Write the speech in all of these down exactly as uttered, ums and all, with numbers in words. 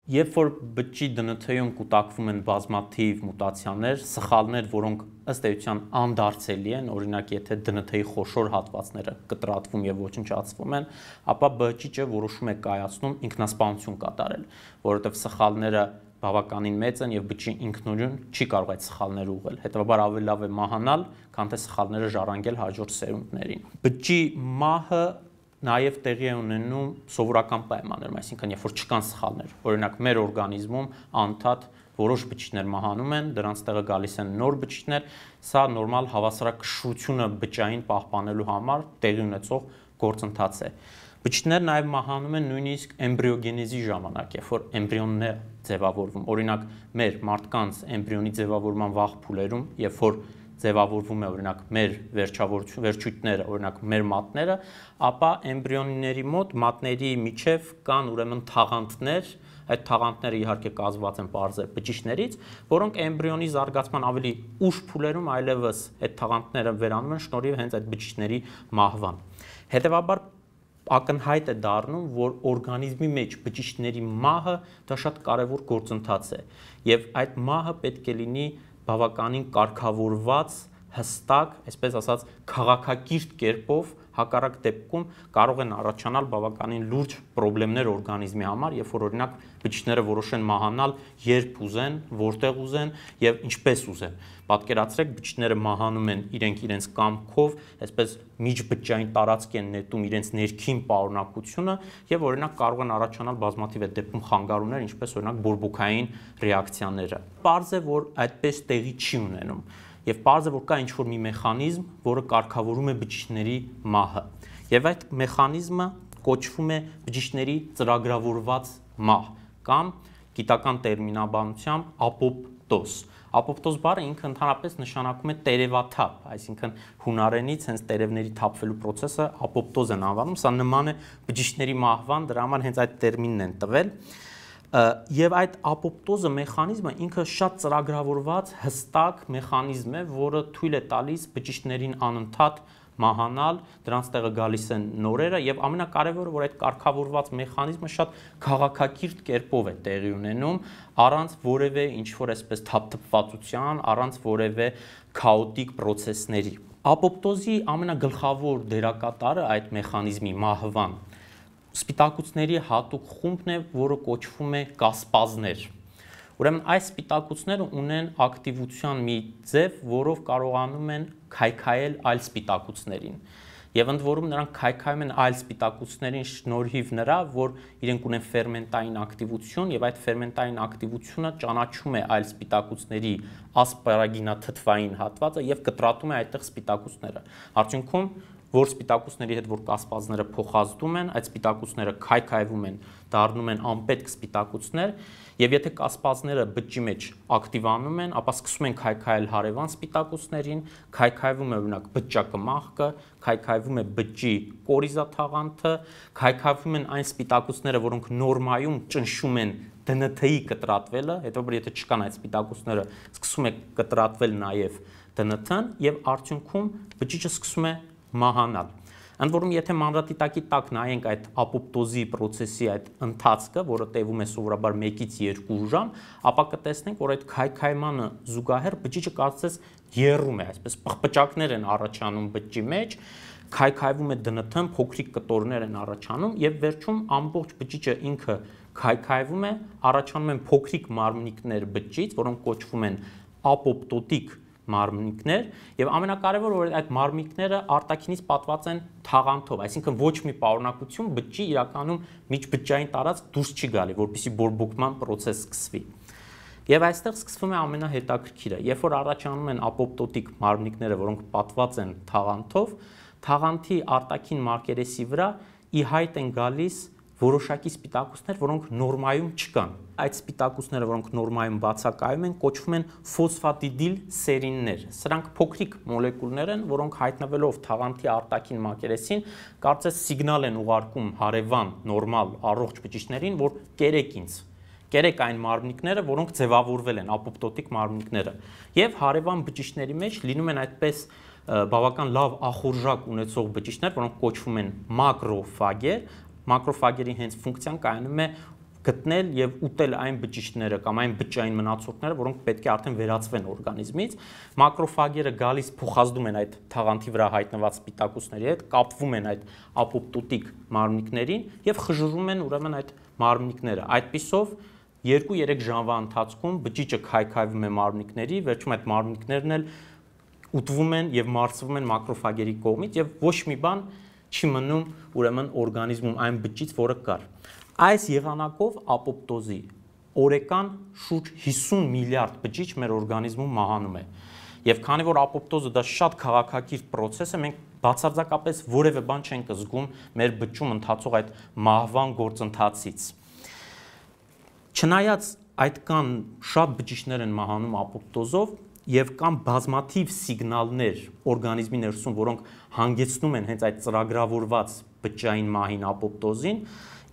Երբ որ բջջի դը են թեում կուտակվում են բազմաթիվ մուտացիաներ, սխալներ, որոնք ըստ էության անդարձելի են, օրինակ եթե դը են թեի խոշոր հատվածները կտրատվում եւ ոչնչացվում են, ապա բջիջը որոշում է կայացնում ինքնասպանություն կատարել, որովհետեւ սխալները բավականին մեծ են եւ բջջի ինքնուրույն չի կարող այդ սխալները ուղղել։ Հետեւաբար ավելի լավ է մահանալ, քան թե սխալները ժառանգել հաջորդ սերունդներին։ Բջջի մահը նաև տեղի է ունենում սովորական պայմաններում, այսինքն երբ որ չկան սխալներ, օրինակ մեր օրգանիզմում անդադ որոշ բջիջներ մահանում են, դրանց տեղը գալիս են նոր բջիջներ, սա նորմալ հավասարակշռությունը բջջային պահպանելու համար տեղի ունեցող գործընթաց է։ Բջիջներ նաև մահանում են նույնիսկ էմբրիոգենեզի ժամանակ, երբ որ էմբրիոնն է ձևավորվում, օրինակ մեր մարդկանց էմբրիոնի ձևավորման վաղ փուլերում, երբ որ ձևավորվում է օրինակ մեր վերջույթները, օրինակ մեր մատները, ապա էմբրիոնների մոտ մատների միջև կան ուրեմն թաղանթներ, այդ թաղանթները իհարկե կազմված են պարզե բջիջներից, որոնք էմբրիոնի զարգացման ավելի ուշ փուլերում այլևս այդ թաղանթները վերանում են շնորհիվ հենց այդ բջիջների մահվան։ Հետևաբար ակնհայտ է դառնում, որ օրգանիզմի մեջ բջիջների մահը դա շատ կարևոր գործընթաց է, եւ այդ մահը պետք է լինի բավականին կարգավորված, հստակ, այսպես ասած, քաղաքակիրթ կերպով, հակառակ դեպքում կարող են առաջանալ բավականին լուրջ խնդիրներ օրգանիզմի համար, երբ որ օրինակ բջիջները որոշեն մահանալ, երբ ուզեն, որտեղ ուզեն եւ ինչպես ուզեն։ Պատկերացրեք, բջիջները մահանում են իրենք իրենց կամքով, այսպես միջբջջային տարածք են նետում իրենց ներքին պարունակությունը եւ օրինակ կարող են առաջանալ բազմաթիվ այդ դեպքում խանգարումներ, ինչպես օրինակ բորբոքային ռեակցիաները։ Պարզ է, որ այդպես տեղի չի ունենում։ Եվ պարզ է, որ կա ինչ-որ մի մեխանիզմ, որը կարգավորում է բջիջների մահը։ Եվ այդ մեխանիզմը կոչվում է բջիջների ծրագրավորված մահ կամ գիտական տերմինաբանությամբ ապոպտոզ։ Ապոպտոզ բառը ինքը ընդհանրապես նշանակում է տերևաթափ, այսինքն հունարենից հենց տերևների թափվելու process-ը ապոպտոզ են անվանում, սա նման է բջիջների մահվան, դրա համար հենց այդ տերմինն են տվել։ Եվ այդ ապոպտոզը մեխանիզմը ինքը շատ ծրագրավորված հստակ մեխանիզմ է, որը թույլ է տալիս բջիջներին անընդհատ մահանալ, դրանց տեղը գալիս են նորերը եւ ամենակարևորը, որ այդ կարգավորված մեխանիզմը շատ քաղաքակիրթ կերպով է տեղի ունենում, առանց որևէ ինչ-որ այսպես թափթփվածության, առանց որևէ քաոտիկ process-ների։ Ապոպտոզի ամենագլխավոր դերակատարը այդ մեխանիզմի մահվան սպիտակուցների հատուկ խումբն է, որը կոչվում է կասպազներ։ Ուրեմն այս սպիտակուցները ունեն ակտիվության մի ձև, որով կարողանում են քայքայել այլ սպիտակուցներին։ Եվ ընդ որում նրանք քայքայում են այլ սպիտակուցներին շնորհիվ նրա, որ իրենք ունեն ֆերմենտային ակտիվություն եւ այդ ֆերմենտային ակտիվությունը ճանաչում է այլ սպիտակուցների ասպարագինաթթվային հատվածը եւ կտրատում է այդտեղ սպիտակուցները։ Արդյունքում որ սպիտակուցների հետ որ կասպազները փոխազդում են, այդ սպիտակուցները քայքայվում են, դառնում են անպետք սպիտակուցներ, եւ եթե կասպազները բջջի մեջ ակտիվանում են, ապա սկսում են քայքայել հարևան սպիտակուցներին, քայքայվում է օրինակ բջջակմախքը, քայքայվում է բջջի կորիզաթաղանթը, քայքայվում են այն սպիտակուցները, որոնք նորմայում ճնշում են դը են թեի կտրատվելը, հետո եթե չկան այդ սպիտակուցները, սկսում է կտրատվել նաեւ դը են թ-ն եւ արդյունքում բջիջը սկսում է մահանալ։ Ընդ որում եթե մանրադիտակի տակ նայենք այդ ապոպտոզի process-ի այդ ընթացքը, որը տևում է սովորաբար մեկից երկու ժամ, ապա կտեսնենք, որ այդ քայքայմանը զուգահեռ բջիջը կարծես եռում է, այսպես պղպճակներ են առաջանում բջջի մեջ, քայքայվում է դը են թ-ն, փոքրիկ կտորներ են առաջանում եւ վերջում ամբողջ բջիջը ինքը քայքայվում է, առաջանում են փոքրիկ մարմնիկներ բջջից, որոնք կոչվում են ապոպտոտիկ մարմնիկներ եւ ամենակարևորը որ այդ մարմնիկները արտաքինից պատված են թաղանթով, այսինքն ոչ մի պարունակություն բջջի իրականում միջբջջային տարածք դուրս չի գալի, որպեսզի բորբոքման process սկսվի։ Եվ այստեղ սկսվում է ամենահետաքրքիրը, երբ որ առաջանում են ապոպտոտիկ մարմնիկները, որոնք պատված են թաղանթով, թաղանթի արտաքին մակերեսի վրա ի հայտ են գալիս որոշակի սպիտակուցներ, որոնք նորմայում չկան։ Այդ սպիտակուցները, որոնք նորմայում բացակայում են, կոչվում են ֆոսֆատիդիլ սերիններ։ Սրանք փոքրիկ մոլեկուլներ են, որոնք հայտնվելով թաղանթի արտաքին մակերեսին, կարծես սիգնալ են ուղարկում հարևան նորմալ առողջ բջիջներին, որ կերեք ինձ։ Կերեք այն մարմնիկները, որոնք ձևավորվել են, ապոպտոտիկ մարմնիկները։ Եվ հարևան բջիջների մեջ լինում են այդպես բավական լավ ախորժակ ունեցող բջիջներ, որոնք կոչվում են մակրոֆագեր։ Մակրոֆագերի հենց ֆունկցիան կայանում է գտնել եւ ուտել այն բջիջները կամ այն բջջային մնացորդները, որոնք պետք է արդեն վերածվեն օրգանիզմից։ Մակրոֆագերը գալիս փոխազդում են այդ թաղանթի վրա հայտնված սպիտակուցների հետ, կապվում են այդ ապոպտոտիկ մարմնիկներին եւ խժռում են ուրեմն այդ մարմնիկները։ Այդպիսով երկու-երեք ժամվա ընթացքում բջիջը քայքայվում է մարմնիկների, վերջում այդ մարմնիկներն էլ ուտվում են եւ մարսվում են մակրոֆագերի կողմից եւ ոչ մի բան չի մնում ուրեմն օրգանիզմում այն բջիջ, որը կար։ Այս եղանակով ապոպտոզի օրեկան շուրջ հիսուն միլիարդ բջիջ մեր օրգանիզմում մահանում է։ Եվ քանի որ ապոպտոզը դա շատ քաղաքակիրթ process է, մենք բացարձակապես որևէ բան չենք զգում մեր բջջում ընթացող այդ մահվան գործընթացից։ Չնայած այդքան շատ բջիջներ են մահանում ապոպտոզով եւ կան բազմաթիվ սիգնալներ օրգանիզմի ներսում, որոնք հանգեցնում են հենց այդ ծրագրավորված բջջային մահին ապոպտոզին,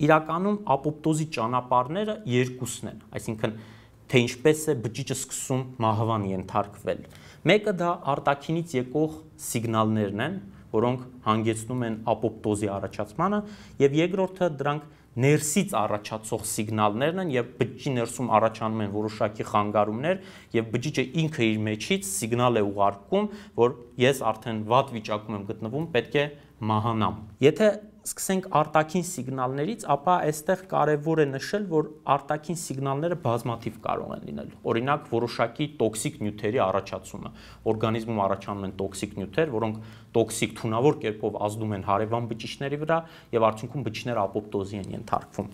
իրականում ապոպտոզի ճանապարհները երկուսն են, այսինքն թե ինչպես է բջիջը սկսում մահվան ենթարկվել։ Մեկը դա արտաքինից եկող սիգնալներն են, որոնք հանգեցնում են ապոպտոզի առաջացմանը, եւ երկրորդը դրանք ներսից առաջացող սիգնալներն են եւ բջջի ներսում առաջանում են որոշակի խանգարումներ եւ բջիջը ինքը իր մեջից սիգնալ է ուղարկում, որ ես արդեն վատ վիճակում եմ գտնվում, պետք է մահանամ։ Եթե սկսենք արտաքին սիգնալներից, ապա այստեղ կարևոր է նշել, որ արտաքին սիգնալները բազմաթիվ կարող են լինել։ Օրինակ, որոշակի տոքսիկ նյութերի առաջացումը։ Օրգանիզմում առաջանում են տոքսիկ նյութեր, որոնք տոքսիկ թունավոր կերպով ազդում են հարևան բջիջների վրա եւ արդյունքում բջիջները ապոպտոզի են ենթարկվում։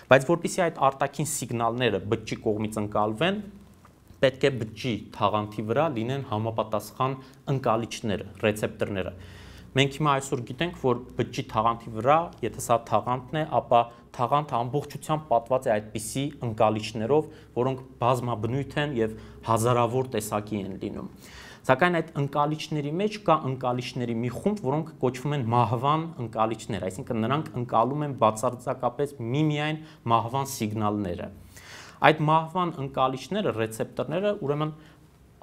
Բայց որpիսի այդ արտաքին սիգնալները բջջի կողմից ընկալվեն, պետք է բջջի թաղանթի վրա լինեն համապատասխան ընկալիչները, ռեցեպտորները։ Մենք հիմա այսօր գիտենք, որ բջջի թաղանթի վրա, եթե սա թաղանթն է, ապա թաղանթը ամբողջությամբ պատված է այդպիսի ընկալիչներով, որոնք բազմաբնույթ են եւ հազարավոր տեսակի են լինում։ Սակայն այդ ընկալիչների մեջ կա ընկալիչների մի խումբ, որոնք կոչվում են մահվան ընկալիչներ, այսինքն նրանք ընկալում են բացարձակապես միմիայն մահվան սիգնալները։ Այդ մահվան ընկալիչները, ռեցեպտորները, ուրեմն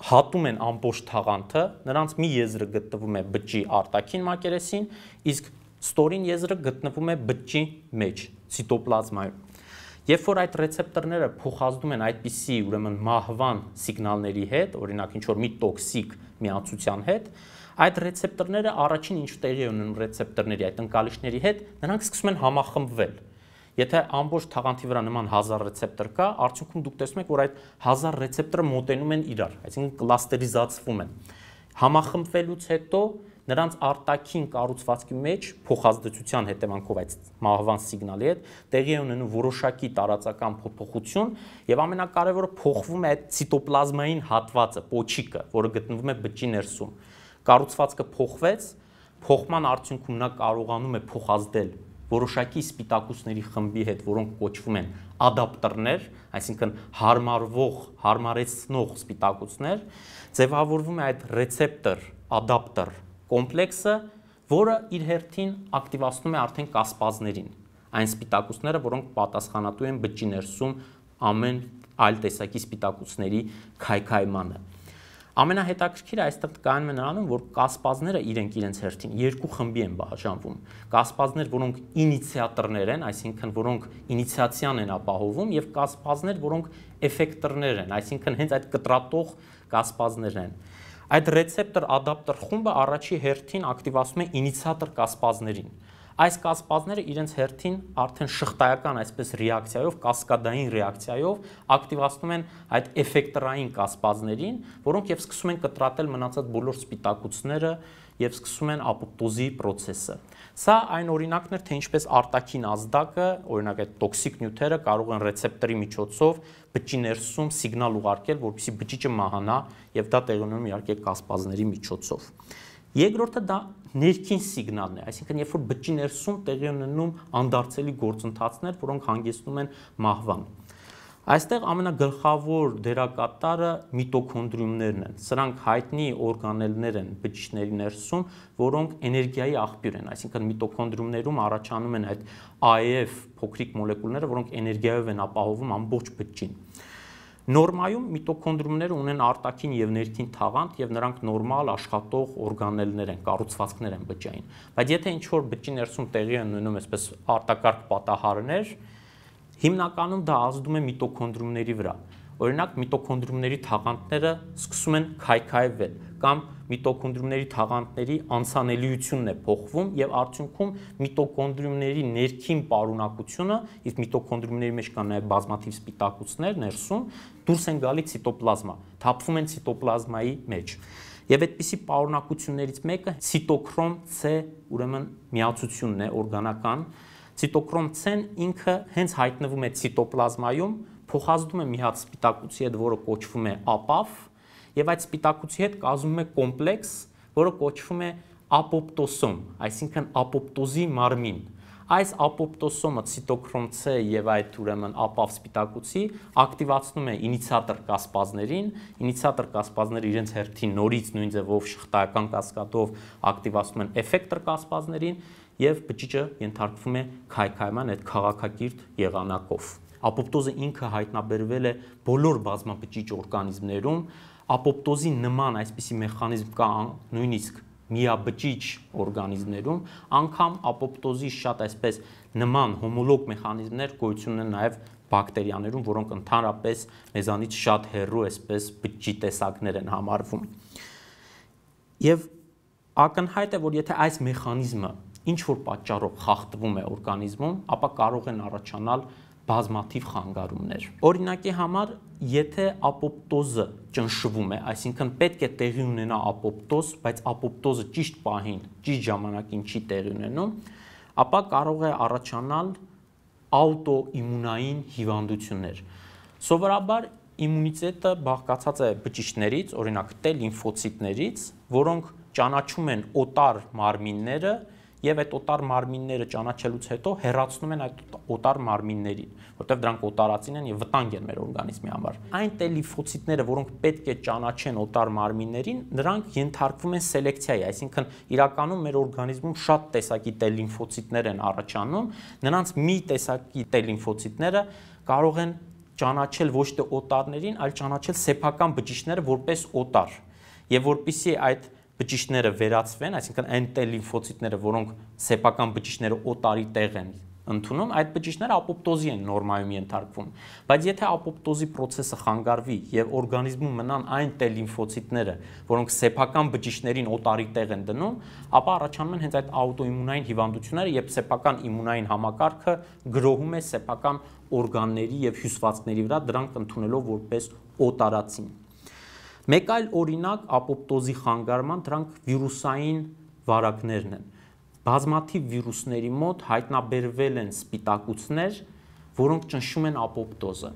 հատում են ամբողջ թաղանթը, նրանց մի եզրը գտնվում է բջջի արտաքին մակերեսին, իսկ ստորին եզրը գտնվում է բջջի մեջ, ցիտոպլազմայում։ Երբ որ այդ ռեցեպտորները փոխազդում են այդպիսի ուրեմն մահվան սիգնալների հետ, օրինակ ինչ որ մի տոքսիկ միացության հետ, այդ ռեցեպտորները առաջին ինչ տեղի ունեն ռեցեպտորների այդ ընկալիչների հետ, նրանք սկսում են համախմբվել։ Եթե ամբողջ թաղանթի վրա նման հազար ռեցեպտոր կա, արդյունքում դուք տեսնում եք, որ այդ հազար ռեցեպտորը մոտենում են իրար, այսինքն կլաստերիզացվում են։ Համախմբվելուց հետո նրանց արտաքին կառուցվածքի մեջ փոխազդեցության հետևանքով այդ մահվան սիգնալի հետ տեղի է ունենում որոշակի տարածական փոփոխություն եւ ամենակարևորը փոխվում է այդ ցիտոպլազմային հատվածը, պոչիկը, որը գտնվում է բջջի ներսում։ Կառուցվածքը փոխվեց, փոխման արդյունքում նա կարողանում է փոխազդել որոշակի սպիտակուցների խմբի հետ, որոնք կոչվում են ադապտորներ, այսինքն հարմարվող, հարմարեցնող սպիտակուցներ, ձևավորվում է այդ ռեցեպտոր ադապտոր կոմպլեքսը, որը իր հերթին ակտիվացնում է արդեն կասպազներին, այն սպիտակուցները, որոնք պատասխանատու են բջջի ներսում ամեն այլ տեսակի սպիտակուցների քայքայմանը։ Ամենահետաքրքիրը այստեղ կայանում է նրանում, որ կասպազները իրենք իրենց հերթին երկու խմբի են բաժանվում։ Կասպազներ, որոնք ինիցիատորներ են, այսինքն որոնք ինիցիացիան են ապահովում, եւ կասպազներ, որոնք էֆեկտորներ են, այսինքն հենց այդ կտրատող կասպազներն են։ Այդ ռեցեպտոր ադապտոր խումբը առաջի հերթին ակտիվացում է ինիցիատոր կասպազներին։ Այս կասպազները իրենց հերթին արդեն շղթայական այսպես ռեակցիայով, կասկադային ռեակցիայով ակտիվացնում են այդ էֆեկտորային կասպազներին, որոնք եւ սկսում են կտրատել մնացած բոլոր սպիտակուցները եւ սկսում են ապոպտոզի process-ը։ Սա այն օրինակն էր, թե ինչպես արտաքին ազդակը, օրինակ այդ տոքսիկ նյութերը կարող են ռեցեպտորի միջոցով բջջի ներսում սիգնալ ուղարկել, որպեսզի բջիջը մահանա եւ դա տեղի ունենում իհարկե կասպազների միջոցով։ Երկրորդը դա ներքին սիգնալն է, այսինքն երբ որ բջջի ներսում տեղի ունենում անդարձելի գործընթացներ, որոնք հանգեցնում են մահվան։ Այստեղ ամենագլխավոր դերակատարը միտոքոնդրիումներն են։ Սրանք հայտնի օրգանելներ են բջիջների ներսում, որոնք էներգիայի աղբյուր են, այսինքն միտոքոնդրիումներում առաջանում են այդ A E F փոքրիկ մոլեկուլները, որոնք էներգիայով են ապահովում ամբողջ բջջին։ Նորմայում միտոքոնդրիումները ունեն արտաքին եւ ներքին թաղանթ եւ նրանք նորմալ աշխատող օրգանելներ են, կառուցվածքներ են բջջային։ Բայց եթե ինչ որ բջջի ներսում տեղի են ունենում այսպես արտակարգ պատահարներ, Հիմնականում դա ազդում է միտոկոնդրիումների վրա։ Օրինակ, միտոկոնդրիումների թաղանթները սկսում են քայքայվել կամ միտոկոնդրիումների թաղանթների անցանելիությունն է փոխվում եւ արդյունքում միտոկոնդրիումների ներքին պարունակությունը, իսկ միտոկոնդրիումների մեջ կան նաեւ բազմաթիվ սպիտակուցներ ներսում, դուրս են գալի ցիտոպլազմա, թափվում են ցիտոպլազմայի մեջ։ Եվ այդպիսի պարունակություններից մեկը ցիտոքրոմ C, ուրեմն միացությունն է օրգանական։ Ցիտոքրոմ C-ն ինքը հենց հայտնվում է ցիտոպլազմայում, փոխազդում է մի հատ սպիտակուցի հետ, որը կոչվում է ապավ, եւ այդ սպիտակուցի հետ կազմում է կոմպլեքս, որը կոչվում է ապոպտոսոմ, այսինքն ապոպտոզի մարմին։ Այս ապոպտոսոմը ցիտոքրոմ C եւ այդ ուրեմն ապավ սպիտակուցի ակտիվացնում է ինիցիատոր կասպազներին, ինիցիատոր կասպազները իրենց հերթին նորից նույն ձևով շղթայական կասկադով ակտիվացնում են էֆեկտոր կասպազներին եւ բջիջը ենթարկվում է քայքայման այդ քաղաքակիրթ եղանակով։ Ապոպտոզը ինքը հայտնաբերվել է բոլոր բազմաբջիջ օրգանիզմներում, ապոպտոզի նման այսպիսի մեխանիզմ կա նույնիսկ միաբջիջ օրգանիզմներում, անգամ ապոպտոզի շատ այսպես նման հոմոլոգ մեխանիզմներ գոյություն ունեն նաև բակտերիաներում, որոնք ընդհանրապես մեզանից շատ հեռու այսպես բջջի տեսակներ են համարվում։ Եվ ակնհայտ է, որ եթե այս մեխանիզմը ինչ որ պատճառով խախտվում է օրգանիզմում, ապա կարող են առաջանալ բազմաթիվ խանգարումներ։ Օրինակի համար, եթե ապոպտոզը ճնշվում է, այսինքն պետք է տեղի ունենա ապոպտոզ, բայց ապոպտոզը ճիշտ պահին, ճիշտ ժամանակին չի տեղի ունենում, ապա կարող է առաջանալ աուտոիմունային հիվանդություններ։ Սովորաբար իմունիտետը բաղկացած է բջիջներից, օրինակ T լիմֆոցիտներից, որոնք ճանաչում են օտար մարմինները եւ այդ օտար մարմինները ճանաչելուց հետո հեռացնում են այդ օտար մարմիններին, որտեղ դրանք օտարածին են եւ վտանգ են մեր օրգանիզմի համար։ Այն T լիմֆոցիտները, որոնք պետք է ճանաչեն օտար մարմիններին, նրանք ենթարկվում են սելեկցիայի, այսինքն իրականում մեր օրգանիզմում շատ տեսակի T լիմֆոցիտներ են առաջանում, նրանց մի տեսակի T լիմֆոցիտները կարող են ճանաչել ոչ թե օտարներին, այլ ճանաչել սեփական բջիջները որպես օտար։ Եվ որpիսի այդ բջիջները վերածվեն, այսինքն այն T լիմֆոցիտները, որոնք սեփական բջիջները օտարի տեղ են ընդունում, այդ բջիջները ապոպտոզի են նորմայում ենթարկվում։ Բայց եթե ապոպտոզի process-ը խանգարվի եւ օրգանիզմում մնան այն T լիմֆոցիտները, որոնք սեփական բջիջներին օտարի տեղ են դնում, ապա առաջանում են հենց այդ աուտոիմունային հիվանդությունները, երբ սեփական իմունային համակարգը գրոհում է սեփական օրգանների եւ հյուսվածքների վրա, դրանք ընդունելով որպես օտարածին։ Մեկ այլ օրինակ ապոպտոզի խանգարման դրանք վիրուսային վարակներն են։ Բազմաթիվ վիրուսների մոտ հայտնաբերվել են սպիտակուցներ, որոնք ճնշում են ապոպտոզը։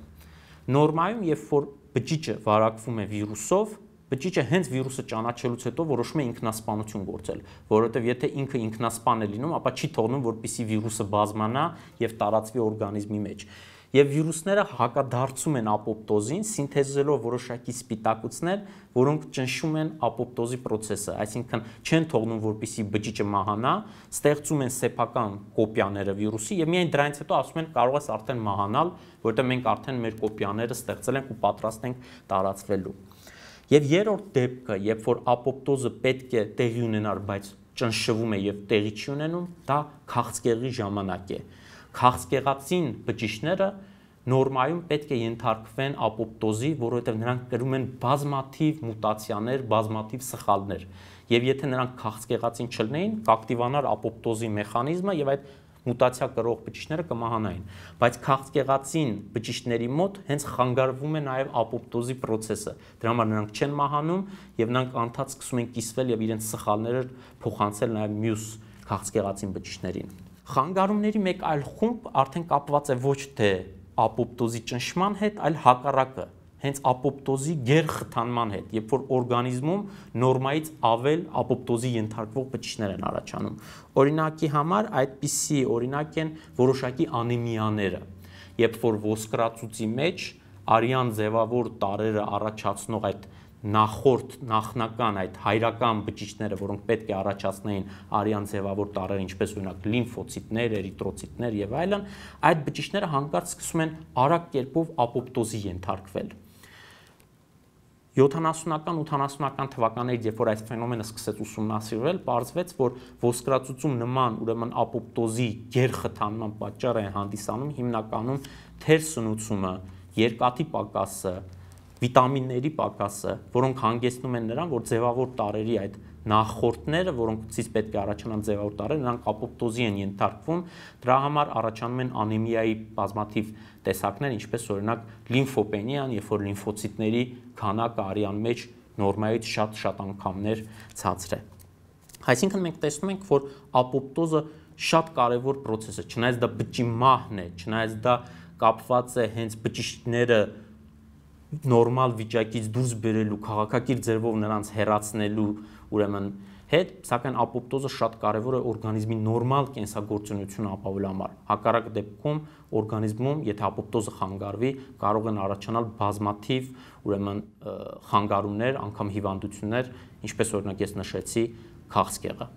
Նորմայում, երբ որ բջիջը վարակվում է վիրուսով, բջիջը հենց վիրուսը ճանաչելուց հետո որոշում է ինքնասպանություն գործել, որովհետև եթե ինքը ինքնասպան է լինում, ապա չի թողնում, որպեսզի վիրուսը բազմանա եւ տարածվի օրգանիզմի մեջ։ Եվ վիրուսները հակադարձում են ապոպտոզին, սինթեզելով որոշակի սպիտակուցներ, որոնք ճնշում են ապոպտոզի process-ը, այսինքն չեն թողնում, որպեսզի բջիջը մահանա, ստեղծում են սեփական կոպիաները վիրուսի եւ միայն դրանից հետո ասում են կարող ես արդեն մահանալ, որովհետեւ մենք արդեն մեր կոպիաները ստեղծել ենք ու պատրաստ ենք տարածվելու։ Եվ երրորդ դեպքը, երբ որ ապոպտոզը պետք է տեղի ունենար, բայց ճնշվում է եւ տեղի չի ունենում, դա քաղցկեղի ժամանակ է։ Քաղցկեղածին բջիջները նորմայում պետք է ենթարկվեն ապոպտոզի, որովհետև նրանք կրում են բազմաթիվ մուտացիաներ, բազմաթիվ սխալներ։ Եվ եթե նրանք քաղցկեղածին չլինեին, կակտիվանար ապոպտոզի մեխանիզմը եւ այդ մուտացիա կրող բջիջները կմահանային։ Բայց քաղցկեղածին բջիջների մոտ հենց խանգարվում է նաեւ ապոպտոզի process-ը։ Դրա համար նրանք չեն մահանում եւ նրանք անդադ սկսում են կիսվել եւ իրենց սխալները փոխանցել նաեւ մյուս քաղցկեղածին բջիջներին։ Խանգարումների մեկ այլ խումբ արդեն կապված է ոչ թե ապոպտոզի ճնշման հետ, այլ հակառակը, հենց ապոպտոզի գերխթանման հետ, երբ որ օրգանիզմում նորմայից ավել ապոպտոզի ենթարկվող բջիջներ են առաջանում։ Օրինակի համար այդպիսի օրինակ են որոշակի անեմիաները, երբ որ ոսկրածուծի մեջ արյան ձևավոր տարրերը առաջացնող այդ նախորդ նախնական այդ հայրական բջիջները, որոնք պետք է առաջացնեին արյան ձևավոր տարրեր, ինչպես օրինակ լիմֆոցիտներ, էրիթրոցիտներ եւ այլն, այդ բջիջները հանկարծ սկսում են արագ կերպով ապոպտոզի ենթարկվել։ յոթանասունական ութանասունական թվականներից, երբ որ այս ֆենոմենը սկսեց ուսումնասիրվել, պարզվեց, որ ոսկրածուծում նման ուրեմն ապոպտոզի գերխթանման պատճառ է հանդիսանում հիմնականում թերսնուցումը, երկաթի պակասը, վիտամինների պակասը, որոնք հանգեցնում են նրան, որ ձևավոր տարրերի այդ նախորդները, որոնցից պետք է առաջանան ձևավոր տարրեր, նրանք ապոպտոզի են ենթարկվում, դրա համար առաջանում են անեմիայի բազմաթիվ տեսակներ, ինչպես օրինակ լիմֆոպենիան, երբ որ լիմֆոցիտների քանակը արյան մեջ նորմայից շատ-շատ անգամներ ցածր է։ Այսինքն մենք տեսնում ենք, որ ապոպտոզը շատ կարևոր process է, չնայած դա բջջի մահն է, չնայած դա կապված է հենց բջիջները նորմալ վիճակից դուրս բերելու, քաղաքակիրթ ձևով նրանց հեռացնելու ուրեմն հետ, սակայն ապոպտոզը շատ կարևոր է օրգանիզմի նորմալ կենսագործունեությունը ապահովելու համար։ Հակառակ դեպքում օրգանիզմում, եթե ապոպտոզը խանգարվի, կարող են առաջանալ բազմաթիվ ուրեմն խանգարումներ, անգամ հիվանդություններ, ինչպես օրինակ ես նշեցի, քաղցկեղը։